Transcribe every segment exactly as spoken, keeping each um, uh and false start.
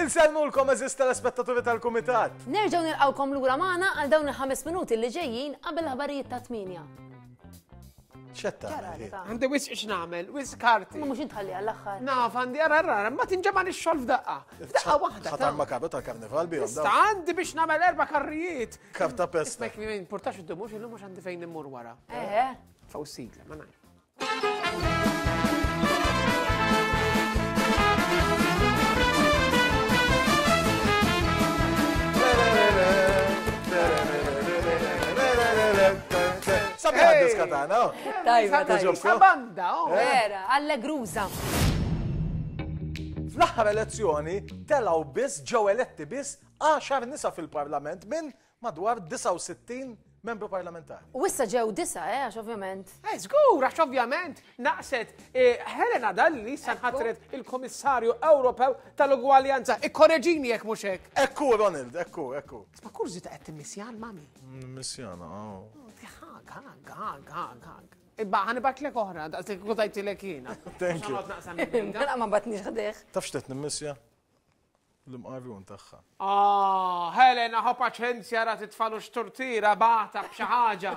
Insellmulkom għeżież telespettaturi tal-Kumitat. Nerġgħu nilqgħukom lura magħna għal dawn il-ħames minuti li ġejjin qabel l-aħbarijiet ta' tmienja. Xetta. Għandi wisq x'nagħmel, wisq karti. Ma mhux intħalli għall-aħħar. Naf għandi ara ara, ma tinġema' ix-xogħol f'daqqa. F'daqqa waħda. Ħatar makabru tal-karnival bihom. Issa għandi biex nagħmel erba' karrijiet. Karta pesta. Ismek mi importax id-dumux illum mhux għandi fejn immur wara. Eħe. Faw sigla, ma nafx. Sabiħa d-diska tagħna. Tajba, tajba. Sabanda, oh. Vera, allegruża. Fl-aħħar elezzjoni telgħu biss ġew eletti biss għaxar nisa fil-Parlament minn madwar disgħa u sittin membru parlamentari. U issa ġew disa, eh, għax ovvjament. Eh, żgur, għax ovvjament naqset eh, Helena Dalli sanħatret il-Komissarju Ewropew tal-Ugwaljanza. Ikkoreġini jekk mhux hekk. Ekku, Ronald, ekku, ekku. Ma kurżi ta' qed timmissjan, mami. Missjana, oh. Għag, għag, għag, għag, għag. Ibba, ħanibatlek oħra, daqs li kutajtilek jiena. Thank you. Mela ma batnix ħdejh. Taf x'qed nimmissja? L-imqarrun tagħha. Ah, Helena, ħo paċenzja ra titfalu x'tortira bata b'xi ħaġa.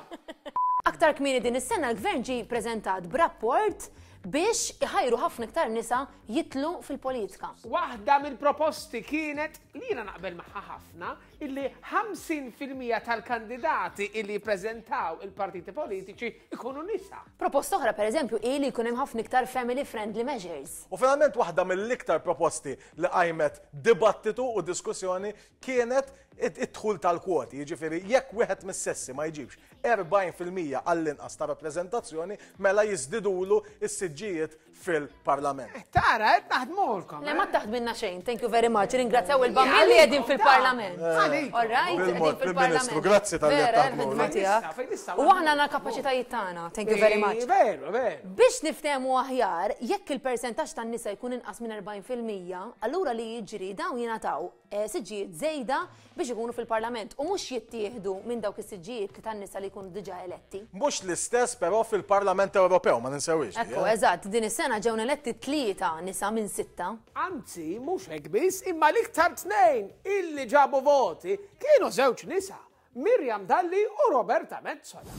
Aktar kmieni din is-sena l-gvern ġie preżentat b'rapport biex iħajru ħafna iktar nisa jitlu fil-politika. Waħda mill-proposti kienet li jiena naqbel magħha ħafna illi ħamsin fil-mija tal-kandidati illi jippreżentaw il-partiti politiċi ikunu nisa. Proposta oħra pereżempju hi li jkun hemm ħafna iktar family friendly measures. U finalment waħda mill-iktar proposti li qajmet dibattitu u diskussjoni kienet id-dħul tal-kwoti, jiġifieri jekk wieħed mis-sessi ma jġibx erbgħin fil-mija għall-inqas ta' rappreżentazzjoni mela jiżdidulu s-siġġijiet fil-Parlament. Eh, tara, qed naħdmulkom. Le, ma taħdminna xejn, thank you very much. Ringrazzjaw il-bambin li qegħdin fil-Parlament. Għalikom. All right, qegħdin Bil-mod, fil-Parlament. Prim-Ministru, grazzi tal-li qed Vera, taħdmulna. il-ħidma tiegħek. Fejn issa, U aħna għandna l-kapaċitajiet tagħna, thank you very much. Veru, veru. Biex niftehmu aħjar, jekk il-persentaġġ tan-nisa jkun inqas minn erbgħin fil-mija, allura li jiġri dawn jingħataw, eh, siġġijiet żejda biex ikunu fil-Parlament u mhux jittieħdu minn dawk is-siġġijiet li tan-nisa li jkunu diġà eletti. Mhux l-istess però fil-Parlament Ewropew, ma ninsewix. Ekku, eżatt, din is-sena ġew eletti tlieta nisa minn sitta. Anzi, mhux hekk biss, imma l-iktar tnejn illi ġabu voti kienu żewġ nisa, Miriam Dalli u Roberta Metsola.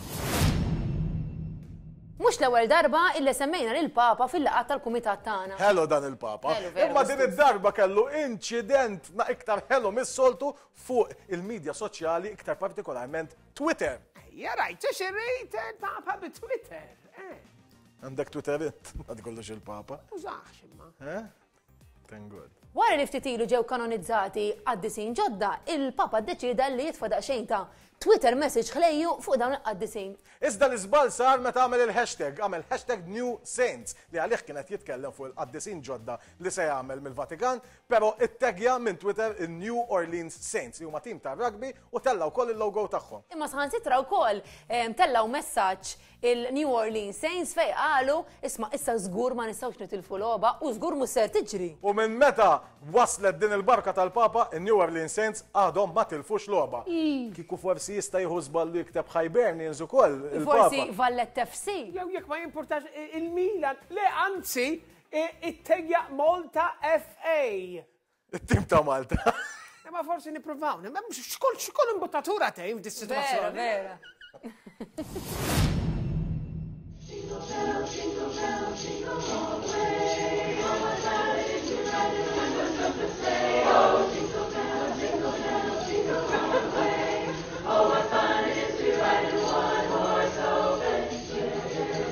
Mhux l-ewwel darba illi semmejna lil Papa fil-laqgħat tal-kumitat tagħna. Hello dan il-Papa. Hello, veru, Imma din scusa. id-darba kellu inċident na iktar hello mis-soltu fuq il-medja soċjali, iktar partikolarment Twitter. Ejja, rajt, xi rejt il-Papa bi Twitter. Eh. Għandek Twitter int, ma tkollux il-Papa. Użax imma. Eh? Thank God. Wara li ftit ilu ġew kanonizzati qaddisin ġodda, il-Papa ddeċida li jitfa' daqsxejn ta' Twitter message ħlejju fuq dawn il-qaddisin. Iżda l-iżball sar meta għamel il-hashtag, għamel hashtag New Saints, li għalih kienet jitkellem fuq il-qaddisin ġodda li se jagħmel mill-Vatikan, però ittegja minn Twitter il-New Orleans Saints, li huma tim ta' rugby u tellaw wkoll il-logo tagħhom. Imma saħansitra wkoll, em, tellaw messaġġ il-New Orleans Saints fej qalu, isma' issa żgur ma nistgħux nitilfu logħba u żgur mhux ser tiġri. U minn meta waslet din il-barka tal-Papa, il-New Orleans Saints għadhom ma tilfux logħba. Ii. Kieku forsi jista' jieħu żball li jikteb Hibernians ukoll il-Papa. Forsi Valletta F C. Jew jekk ma jimpurtax il-Milan, le anzi it-tegja Malta F A. It-tim ta' Malta. Imma forsi nippruvaw, imma x'kull, x'kull imbuttatura tgħin f'dis Vera, sitwazzjoni. vera. Jingle bell, jingle bell, jingle all the way. Oh, what fun it is to ride in a one-horse open sleigh. Oh, jingle bell, jingle bell, jingle all the way. Oh, what fun it is to ride in a one-horse open sleigh. Jingle bell,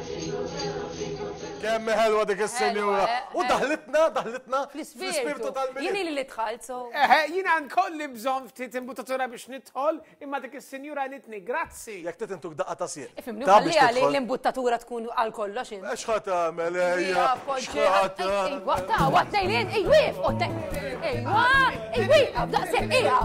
jingle bell, jingle bell. Kemm ħelwa dik is-sinjura. Ħelwa, eh, U daħlitna, daħlitna fl-ispirtu fl-ispirtu tal-Milied. Jien ili li dħalt, so. Eħe, jiena nkolli bżonn ftit imbuttatura biex nidħol, imma dik is-sinjura nitni, grazzi. Jekk trid intuk daqqa ta' sieq. Ifhimni, Ta' ħalli biex għalli tidħol. l-imbuttatura tkun għal kollox int. X'ħa tagħmel, ejja? Ejja, poġġi, X'ħa ej, tagħmel? ejwa, ta' waqt lejlien, ej, wif, u te-, ejwa, ej, wif, daqshekk, ejja.